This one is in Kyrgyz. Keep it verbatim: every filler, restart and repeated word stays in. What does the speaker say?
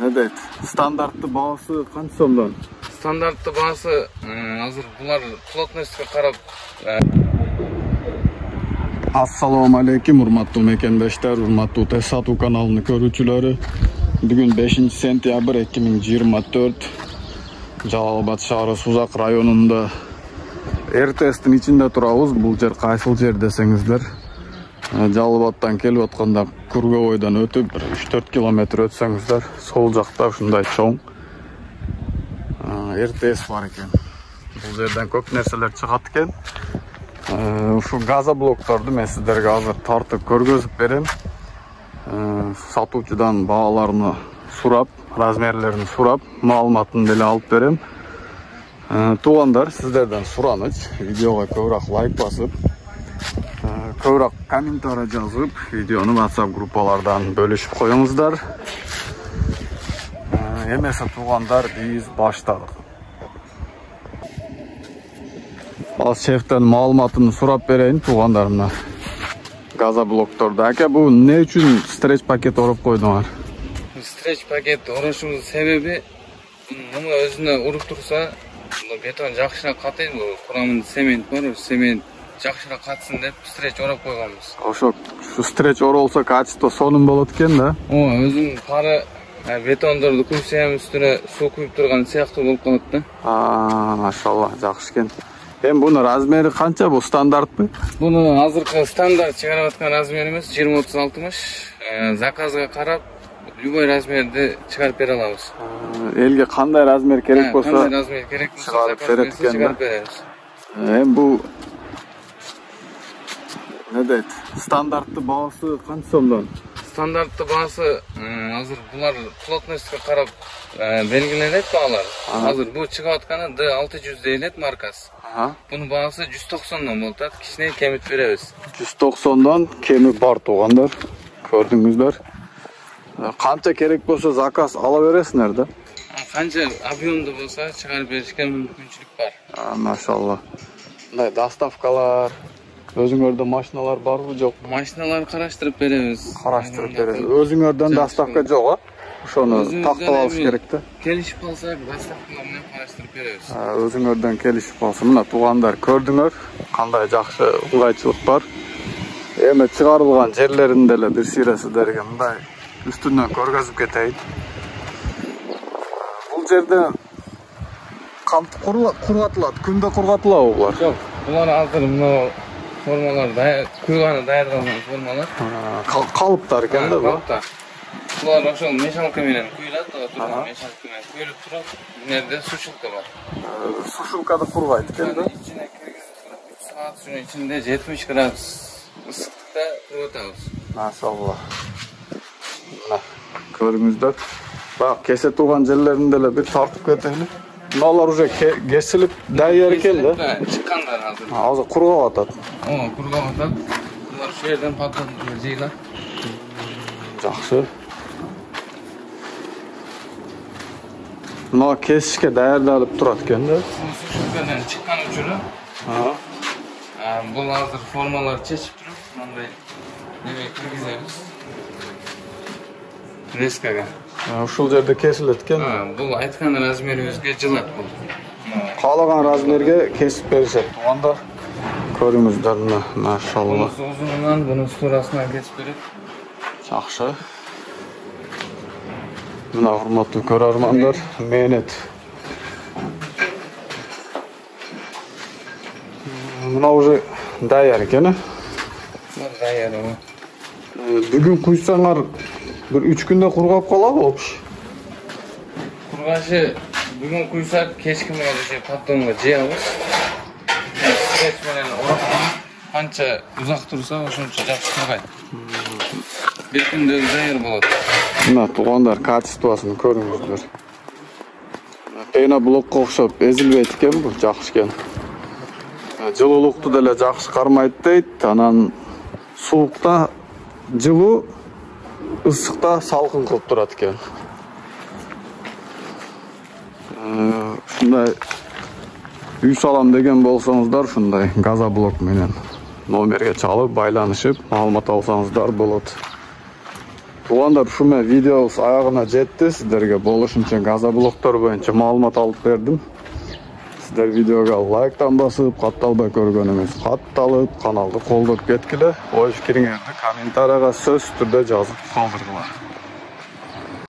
Ne deyt? Standartlı bağısı kaç somdan? Standartlı bağısı hazır bunlar plotностьқа qarab. Assalomu alaykum, hurmatli mekendoshlar, hurmatli Tez Satuv kanalini ko'ruvchilari. Bugun beshinchi sentyabr ikki ming yigirma to'rt Jalolobod shahri Suzaq rayonunda R T S'tin içinde turabız. Bu yer qaysil yer desеңizdер. Jaloloboddan kelip atkanda Kurgovoydan ötüp üç dört kilometr ötsеңiздер, sol жақта ушундай чоң R T S бар экен. Бул жерден көп нерселер чыгат экен. Ушул газоблокторду мен сиздерге азыр тартып көргөзүп берем. Сатуучудан бааларını сурап, размерлерин сурап, маалыматын деле алып берем. Туугандар, сиздерден сураныч, видеого көбүрөөк лайк басып, көбүрөөк комментарий жазып, видеону WhatsApp группалардан бөлүшүп коюңуздар. Эмесе туугандар, биз баштадык. Ал шефтен маалыматын сурап берейин туугандарымна. Газоблокторду. Аке, бул эмне үчүн стреч пакет ороп койдуңар? Стреч пакет орошубуздун себеби муну өзүнө уруп турса, бетон жакшыраак катайт, курамында цемент бар, цемент жакшыраак катсын деп стреч ороп койгонбуз. Ошо ушу стреч оролсо качество сонун болот экен да. Ооба, өзүнүн пары бетондорду куйсам үстүнө суу куюп турган сыяктуу болуп калат да. Аа, машалла, жакшы экен. Эми бунун размери канча? Бул стандартпы? Буну азыркы стандарт чыгарып аткан размер эмес, жыйырма отуз алтымыш. Заказга карап любой размерди чыгарып бере алабыз. Элге кандай размер керек болсо, кандай размер керек болсо чыгарып берет экен да. Чыгарып беребиз. Эми бул не дейт? Стандарттуу баасы канча сомдон? Стандарттуу баасы азыр булар плотностьқа карап белгиленет баалар. Азыр бул чыгып атканы D алты жүз дейлет маркасы. Bunun bağısı жүз токсондон болот, кичине кемит беребиз. жүз токсондон кеми бар туугандар. Көрдүңүздөр. Канча керек болсо заказ ала бересиңер да. Канча объемдуу болсо чыгарып беришке мүмкүнчүлүк бар. Машалла. Мындай доставкалар, өзүңөрдө машиналар барбы, жок? Машиналар караштырып беребиз. Караштырып беребиз. Өзүңөрдөн доставка жок, а? Ошону тактап алыш керек да. Келишип калсак, доставкалар менен караштырып беребиз. Өзүңөрдөн келишип калса, мына туугандар көрдүңөр, кандай жакшы ыңгайчылык бар. Эми чыгарылган жерлерин деле бир сыйра сиздерге мындай үстүнөн көргөзүп кетейин. Бул жерде кантип кургатылат? Күндө кургатылабы булар? Жок, булар азыр мына формалар куйганы даярдалган формалар. Калыптар экен да бул. Булар ошол мешалка менен куюлат, турган мешалка менен куюлуп туруп, мынерде сушилка бар. Сушилкада кургайт экен да. Ичине киргизип, үч саат шунун ичинде жетимиш градус ысыктыкта куюлатабыз. Машалла. Мына көрүңүздөр. Бак кесе турган жерлерин деле бир тартып кетели. Мыналар уже кесилип даяр экен да. Чыккандар азыр. Азыр кургап атат. Ооба, кургап атат. Булар ошол жерден пакет жыйылат. Жакшы. Мына кесишке даярдалып турат экен да. Сушилкадан чыккан учуру. Бул азыр формалар чечип туруп, мындай неме киргизебиз. Резкага. Ушул жерде кесилет экен. Бул айткан размерибизге жылат бул. Каалаган размерге кесип беришет. Туугандар көрүңүздөр мына, машалла. Бул узунунан, бунун турасынан кесип берет. Жакшы. Мына урматтуу көрөрмандар, мээнет. Мына уже даяр экен, э? Даяр. Бүгүн куйсаңар бир үч күндө кургап калабы опуш? Кургашы бүгүн куйсак, кечки менен же поддонго жыябыз. Стреч менен ороп канча узак турса, ошончо жакшы кургайт. Бир күндө даяр болот. Мына туугандар качествосын көрүңүздөр. Пеноблокко окшоп эзилбейт экен бул, жакшы экен. Жылуулукту деле жакшы кармайт дейт. Анан суулукта жылуу, ысыкта салкын кылып турат экен. Ушундай үй салам деген болсоңуздар, ушундай газоблок менен номерге чалып, байланышып, маалымат алсаңыздар болот. Туугандар, ушу менен видеобуз аягына жетти. Сиздерге болушунча газоблоктор боюнча маалымат алып бердим. Сиздер видеого лайктан басып, катталбай көргөнүңүз катталып, каналды колдоп кеткиле. Ой пикириңерди комментарийга сөзсүз түрдө жазып калдыргыла.